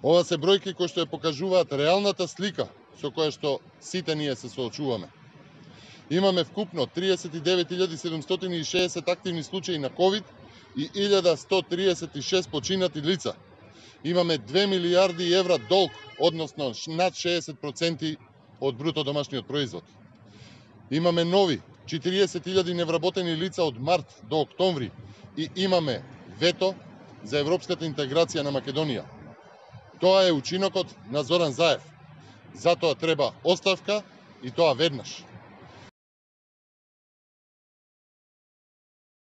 Ова се бројки кои што ја покажуваат реалната слика со која што сите ние се соочуваме. Имаме вкупно 39.760 активни случаи на COVID и 1.136 починати лица. Имаме 2 милијарди евра долг, односно над 60% од бруто домашниот производ. Имаме нови 40.000 невработени лица од март до октомври и имаме вето за европската интеграција на Македонија. Тоа е учинокот на Зоран Заев. Затоа треба оставка и тоа веднаш.